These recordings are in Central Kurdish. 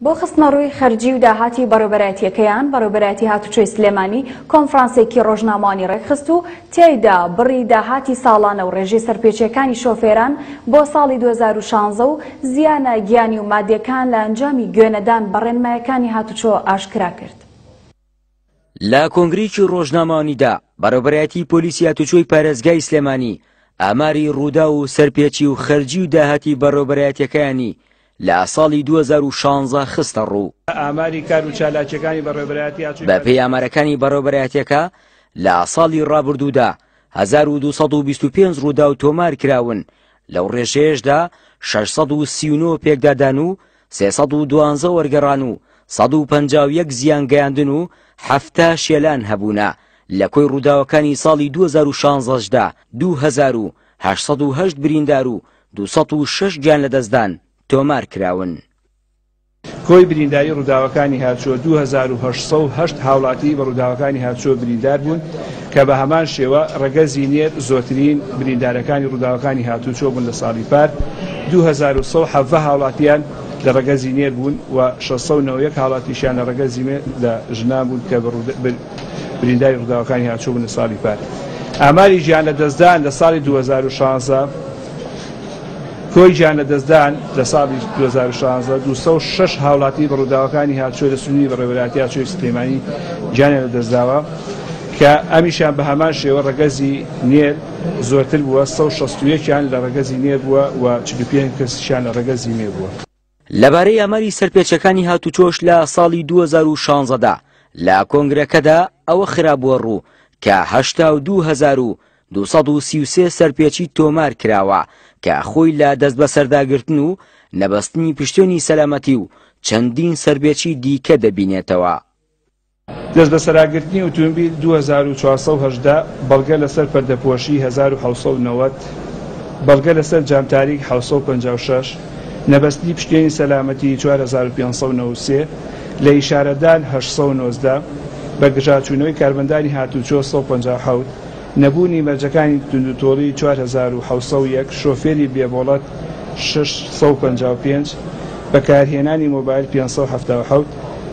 بۆ خستنەڕووی خەرجی و داهاتی بەڕێوەبەرایەتییەکەیان، بەڕێوەبەرایەتی هاتوچۆی سلێمانی کۆنفرانسێکی ڕۆژنامەوانی ڕێکخست و تیایدا بڕی داهاتی ساڵانە و ڕێژەی سەرپێچییەکانی شۆفێران بۆ ساڵی 2016 و زیانە گیانی و مادییەکان لە ئەنجامی گوێنەدان بە ڕێنمایەکانی هاتوچۆ ئاشکرا کرد. لە کۆنگرەیەکی ڕۆژنامەوانیدا بەڕێوەبەرایەتی پۆلیسی هاتوچۆی پارێزگای سلێمانی ئاماری ڕووداو و سەرپێچی و خەرجی و داهاتی بەڕێوەبەرایەتیەکەیانی لە ساڵی 2016 خستە ڕوو. ئاماری کار و چالاکیەکانی بەڕێوەبەرایەتی هاتوچۆی بەپێی ئامارەکانی بەڕێوەبەرایەتیەکە لە ساڵی ڕابردوودا 1225 ڕووداو تۆمار کراون، لەو ڕێژەیەشدا 639 پێکدادان و 312 وەرگەڕان و 151 زیان گەیاندن و 70 شێلان هەبوونە، لە کۆی ڕووداوەکانی ساڵی 2016 دا 2808 بریندار و 206 گیانلەدەستدان تۆمار کراون. کۆی برینداری ڕووداوەکانی هاتچۆ 2808 هاوڵاتی بە ڕووداوەکانی هاتچۆ بریندار بوون کە بە هەمان شێوە ڕەگەزی نێر زۆرترین بریندارەکانی ڕووداوەکانی هاتووچۆ بوون لە ساڵی پار 2117 هاوڵاتیان لە ڕەگەزی نێر بوون و 691 هاوڵاتیشیان لە ڕەگەزی مێ لە ژنان بوون کە برینداری ڕووداوەکانی هاتوچۆ بوون لە ساڵی پار. ئاماری گیانلەدەستدان لە ساڵی 2016 کۆی گیانلەدەستدان لە ساڵی 2016 206 هاوڵاتی بە ڕووداوەکانی هاتوچۆ لە سنووری بەڕێوەبەرایەتی هاتوچۆی سلێمانی گیانیان لەدەستداوە کە ئەمیشیان بە هەمان شێوە ڕەگەزی نێر زۆرتر بووە، 161 یان لە ڕەگەزی نێر بووە و 45 کەسیشیان لە ڕەگەزی مێ بووە. لەبارەی ئاماری سەرپێچەکانی هاتوچۆش لە ساڵی 2016 دا لە کۆنگرەکەدا ئەوە خرابووە ڕوو کە 82233 سەرپێچی تۆمار کراوە کە خۆی لە دەستبەسەرداگرتن و نەبەستنی پشتێنی سەلامەتی و چەندین سەرپێچی دیکە دەبینێتەوە. دەستبەسەراگرتنی ئوتومبیل 2418، بەڵگە لەسەر پەردەپۆشی 1790، بەڵگە لەسەر جام تاریک 756، نەبەستنی پشتێنی سەلامەتی 4593، لە ئیشارەدان 819، بەگژاچوونەوەی کارمەندانی هاتووچۆ 157، نەبوونی مەرجەکانی توندوتۆڵی 4701، شۆفێری بێ مۆڵەت 655، بەکارهێنانی مۆبایل 577،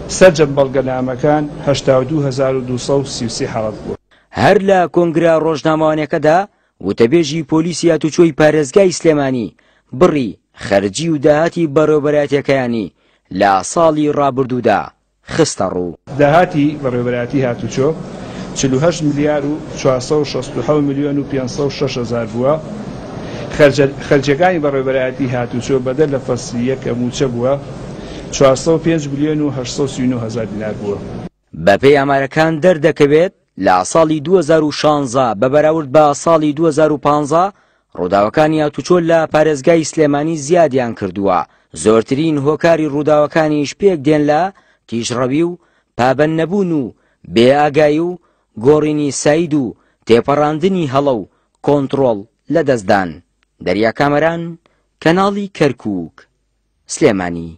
سەرجەم بەڵگەنامەکان 82233 حاڵەت بووە. هەر لە کۆنگرە ڕۆژنامەوانیەکەدا وتەبێژی پۆلیسی هاتوچۆی پارێزگای سلێمانی بڕی خەرجی و داهاتی بەڕێوەبەرایەتیەکەیانی لە ساڵی ڕابردوودا خستەڕوو. داهاتی بەڕێوەبەرایەتی هاتوچۆ 48 ملیار و 467 ملیۆن و 506 هەزار بووە، خەرجیەکانی بەڕێوەبەرایەتی هاتوچۆ بەدەر لە فەسلی یەک کە مووچە بووە 405 ملیۆن و 839 هەزار دینار بووە. بەپێی ئامارەکان دەردەکەوێت لە ساڵی 2016 بە بەراورد بە ساڵی 2015 ڕووداوەکانی هاتوچۆ لە پارێزگای سلێمانی زیادیان کردووە، زۆرترین هۆکاری ڕووداوەکانیش پێک دێن لە تیژڕەوی و پابەندنەبوون و بێ ئاگایی و گۆڕینی ساید و تێپەڕاندنی هەڵە و کۆنتڕۆڵ لەدەستدان. دەریا کامەران، کەناڵی کەرکووک، سلێمانی.